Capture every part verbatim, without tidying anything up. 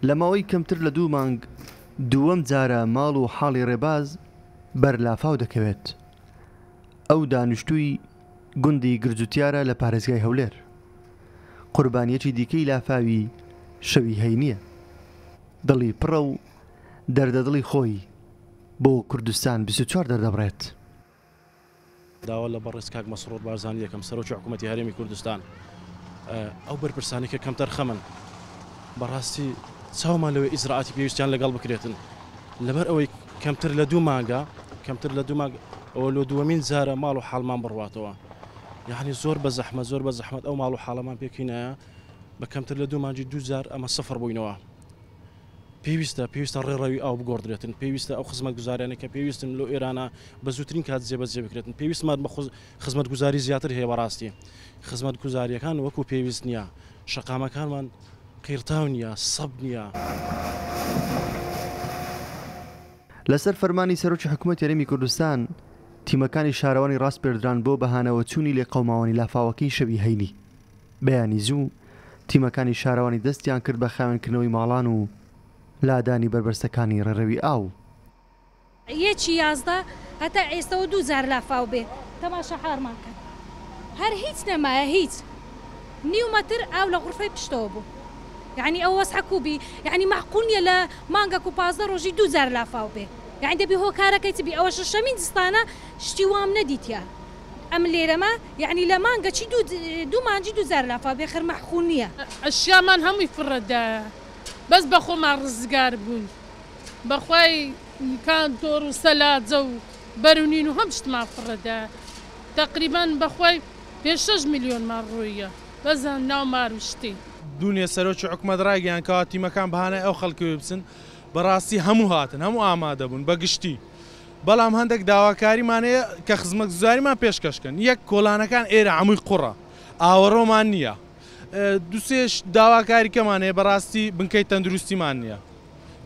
لە ماوەی کەمتر لە دوو مانگ دووەم جارە ماڵ و حاڵی ڕێباز بەر لافاو دەکەوێت. ئەو دانیشتووی گوندی گرجوتیارە لە پارێزگای هەولێر. قوربانیەکی دیکەی لافاوی شەوی هەینییە. دڵی پڕە و دەردەدڵی خۆی بۆ کوردستان بیست و چوار دەردەبڕێت. داوا لە بەڕێز کاک مەسرور بارزانی یەکەم سەرۆکی حکوومەتی هەرێمی کوردستان، ئەو بەرپرسانی کە کەمتەرخەمن بەڕاستی چاومان لەوەی ئیجرائاتی پێویستیان لەگەڵ بکرێتن، لەبەر ئەوەی کەمتر لە دوو مانگە کەمتر لە دوو مانگ ئەوە لۆ دووەمین جارە ماڵ و حاڵمان بڕواتەوە. یعنی زۆر بە زەحمەت زۆر بە زەحمەت ئەو ماڵ و حاڵەمان پێکینایە بە کەمتر لە دوو مانگی دوو جار ئەمە سەفر بووینەوە. پێویستە پێویستە ڕێڕەوی ئاو بگۆڕدرێتن، پێویستە ئەو خزمەتگوزاریانە کە پێویستن لۆ ئێرانە بە زووترین کات جێبەجێ بکرێتن. پێویستمان بە خزمەتگوزاری زیاتر هەیە. بەڕاستی خزمەتگوزاریەکان وەکو پێویست نییە، شەقامەکانمان قیرتاو نییە، سەب نییە. لەسەر فەرمانی سەرۆکی حکوومەتی هەرێمی کوردستان تیمەکانی شارەوانی ڕاسپێردران بۆ بەهانەوە چوونی لێقەوماوانی لافاوەکەی شەوی هەینی. بەیانی زوو تیمەکانی شارەوانی دەستیان کرد بە خاوێنکردنەوەی ماڵان و لادانی بەربەستەکانی ڕێڕەوی ئاو. یەکی یازدە هەتا ئێستەوە دوو جار لافاو بێ تەماشا حارمان کرد، هەر هیچ نەمایە، هیچ نیو مەتر ئاو لە غورفەی پشتەوە بوو. یعنی ئەو وەسعە کوبی، یعنی مەعقول نییە لە مانگەک و پازدە ڕۆژی دوو جار لافاو بێ. یعنی دەبی هۆکارەکەی چ بی؟ ئەوە شەشەمین زستانە شتی وام نەدیتیە ئەم لێرەمە، یعنی لە مانگە چی دوو مانجی دوو جار لافاو بێ، خەر مەعقول نییە. ئەشیامان هەمووی فڕەدایە، بەس بە خۆمان ڕزگار بوون، بەخوای کانتۆر و سەلاجە و بەرونین و هەم شتمان فڕەدایە. تقریبا بەخوای پێنج شەش ملیۆنمان ڕۆیە بەس ناو مار و شتی. دوونێ سەرۆکی حکومەت ڕایگەیان کەوا تیمەکان بەهانای ئەو خەڵکەوێ بچن، بەڕاستی هەموو هاتن، هەموو ئامادە بوون بەگشتی. بەڵام هەندێک داواکاریمان هەیە کە خزمەتگوزاریمان پێشکەشکەن. یەک کۆڵانەکان ئێرە هەمووی قوڕە، ئاوەڕۆمان نییە. دووسێش داواکاریکەمان هەیە، بەڕاستی بنکەی تەندروستیمان نییە،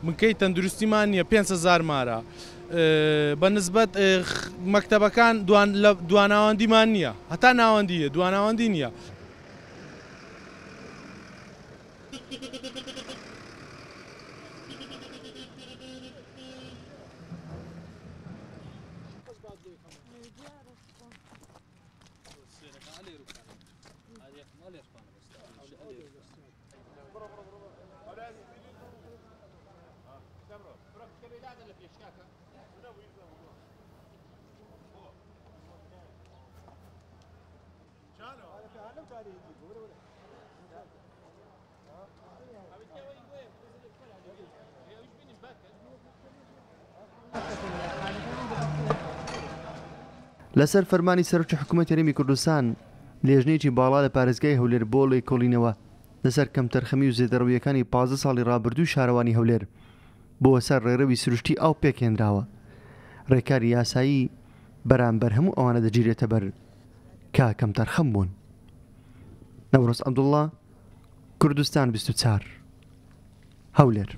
بنکەی تەندروستیمان نییە، پێنج هەزار مارە. بە نسبەت مەکتەبەکان دواناوەندیمان نییە، هەتا ناوەندیە دواناوەندی نییە. لەسەر فەرمانی سەرۆکی حکوومەتی هەرێمی کوردستان لێژنەیەکی باڵا لە پارێزگای هەولێر بۆ لێکۆڵینەوە لەسەر کەمتەرخەمی و زێدەڕەویەکانی پازدە ساڵی ڕابردووی شارەوانی هەولێر بۆ سەر ڕێڕەوی سروشتی ئاو پێکهێنراوە. ڕێکاری یاسایی بەرامبەر هەموو ئەوانە دەگیرێتە بەر کە کەمتەرخەم بوون. نەورۆز عەبدوڵڵا، کوردستان بیست و چوار، هەولێر.